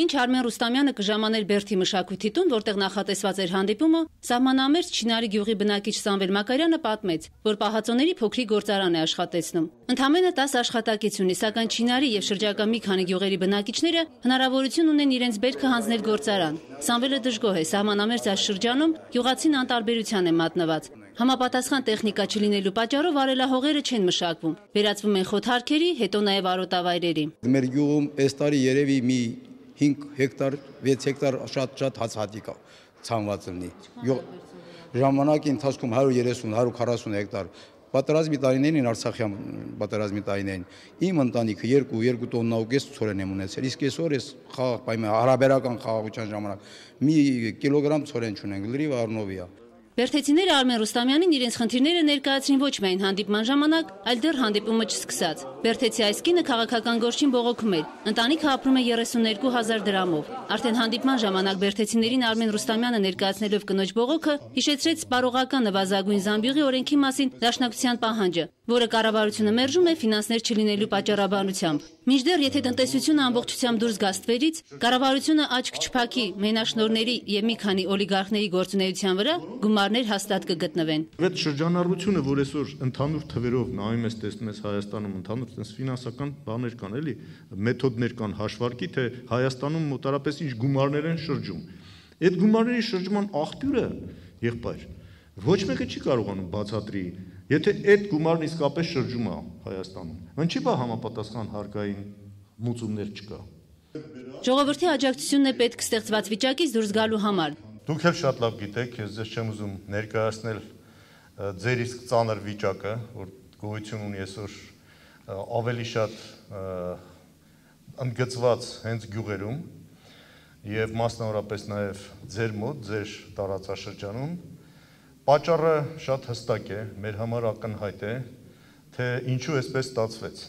Մինչ Արմեն Ռուստամյանը կժամաներ Բերդի մշակույթի տուն, որտեղ նախատեսված էր հանդիպումը, սահմանամերձ Չինարի գյուղի բնակիչ Սամվել Մակարյանը պատմեց, որ պահածոների փոքրիկ գործարան է աշխատեցնում։ Ընդամենը 10 աշխատակից ունի, սակայն Չինարի եւ շրջակա մի քանի գյուղերի բնակիչները հնարավորություն ունեն իրենց բերքը հանձնել գործարան։ Սամվելը դժգոհ է, սահմանամերձ այս շրջանում գյուղացին անտարբերության է մատնված։ Համապատասխան տեխնիկա չլինելու պատճառով արելահողերը չեն մշակվում, վերածվում են խոթարքերի, հետո նաև արոտավայրերի։ Մեր գյուղում այս տարի երևի մի 5 հեկտար, 6 հեկտար շատ հացահատիկ ցանված լինի։ Ժամանակի ընթացքում 130-140 հեկտար պատերազմի տարիներին Արցախյան պատերազմի տարիներին իմ ընտանիքը 2 տոննա ցորեն եմ ունեցել, իսկ այսօր այս խաղաղ պայման հարաբերական խաղաղության ժամանակ մի կիլոգրամ ցորեն չունենք, լրիվ առնովի է։ Բերդեցիները Արմեն Ռուստամյանին իրենց խնդիրները ներկայացրին ոչ միայն հանդիպման ժամանակ, այլ դեռ հանդիպումը չսկսած։ Բերդեցի այս կինը քաղաքական գործին բողոքում էր։ Ընտանիքը ապրում է 32,000 դրամով։ Արդեն հանդիպման ժամանակ բերդեցիներին Արմեն Ռուստամյանը ներկայացնելով կնոջ բողոքը հիշեցրեց սպառողական նվազագույն զամբյուղի օրենքի մասին դաշնակցության պահանջը, որը կառավարությունը մերժում է ֆինանսներ չլինելու պատճառաբանությամբ։ Մինչդեռ եթե տնտեսությունը ամբողջությամբ դուրս գա ստվերից, կառավարությունը աչք չփակի մենաշնորհների եւ մի քանի օլիգարխների գործունեության վրա, գումարներ հաստատ կգտնվեն։ Այդ շրջանառությունը, որ այսօր ընդհանուր թվերով նայում ես, տեսնում ես Հայաստանում ընդհանուր տես ֆինանսական բաներ կան, էլի, մեթոդներ կան հաշվարկի, թե Հայաստանում մոտարապես ինչ գումարներ են շրջում։ Այդ գումարների շրջման աղբյուրը, եղբայր, ոչ մեկը չի կարողանում բացատրի, եթե այդ գումարն իսկապես շրջում է Հայաստանում, ինչի՞ բա համապատասխան հարկային մուծումներ չկա։ Ժողովրդի աջակցությունն է պետք ստեղծված վիճակից դուրս գալու համար։ Դուք էլ շատ լավ գիտեք, ես ձեզ չեմ ուզում ներկայացնել ձեր իսկ ծանր վիճակը, որ գոյություն ունի այսօր ավելի շատ ընդգծված հենց գյուղերում եւ մասնավորապես նաեւ ձեր մոտ, ձեր տարածաշրջանում։ Պատճառը շատ հստակ է, մեր համար ակնհայտ է, թե ինչու այսպես ստացվեց։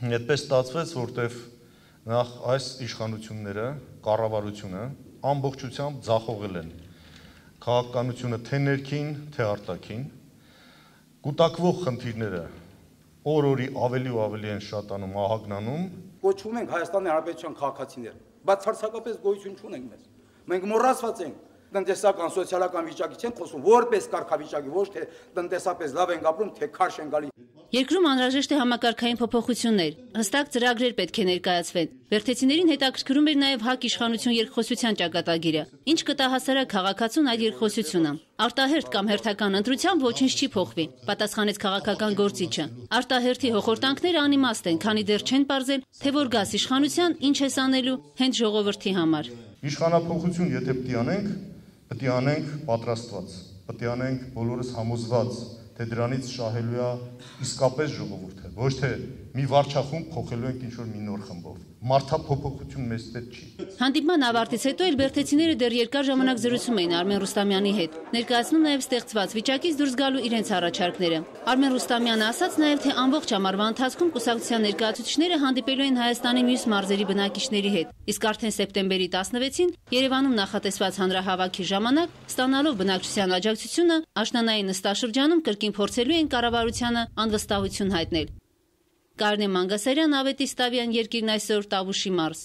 Այդպես ստացվեց, որտեվ նախ այս իշխանությունները, կառավարությունը ամբողջությամբ ձախողել են քաղաքականությունը թե ներքին, թե արտաքին, կուտակվող խնդիրները օր-օրի ավելի ու ավելի են շատանում, ահագնանում։ Կոչվում ենք Հայաստանի Հանրապետության քաղաքացիներ, բայց ցարցակապես գոյություն չունենք մեզ։ Մենք մոռացված ենք տնտեսական, սոցիալական վիճակից չեն խոսում, որպես կարգավիճակի, ոչ թե տնտեսապես լավ ենք ապրում, թե քարշ են գալի։ Երկրում անհրաժեշտ է համակարգային փոփոխություններ, հստակ ծրագրեր պետք է ներկայացվեն։ Բերդեցիներին հետաքրքրում էր նաև ՀԱԿ իշխանություն երկխոսության ճակատագիրը, ինչ կտա հասարակ քաղաքացուն այդ երկխոսությունը։ Արտահերթ կամ հերթական ընտրությամբ ոչինչ չի փոխվի, պատասխանեց քաղաքական գործիչը։ Արտահերթի հոխորտանքները անիմաստ են, քանի դեռ չեն պարզել, թե որ գաս իշխանության ինչ է անելու հենց ժողովրդի համար։ Իշխանափոխություն եթե պետք է անենք պատրաստված, պետք է անենք բոլորս համոզված, թե դրանից շահելու է իսկապես ժողովուրդը, ոչ թե մի վարչախումբ փոխելու ենք ինչ-որ մի նոր խմբով։ Մարդափոփոխություն մեզ պետք չի։ Հանդիպման ավարտից հետո էլ բերդեցիները դեռ երկար ժամանակ զրուցում էին Արմեն Ռուստամյանի հետ, ներկայացնում նաև ստեղծված վիճակից դուրս գալու իրենց առաջարկները։ Արմեն Ռուստամյանը ասաց նաև, թե ամբողջ ամառվա ընթացքում կուսակցության ներկայացուցիչները հանդիպելու են Հայաստանի մյուս մարզերի բնակիչների հետ, իսկ արդեն սեպտեմբերի 16-ին Երևանում նախատեսված հանրահավաքի ժամանակ, ստանալով բնակչության աջակցությունը, աշնանային նստաշրջանում կրկին փորձելու են կառավարությանը անվստահություն հայտնել։ Կարինե Մանգասարյան, Ավետիս Տավյան, Երկիրն այսօր, Տավուշի մարզ։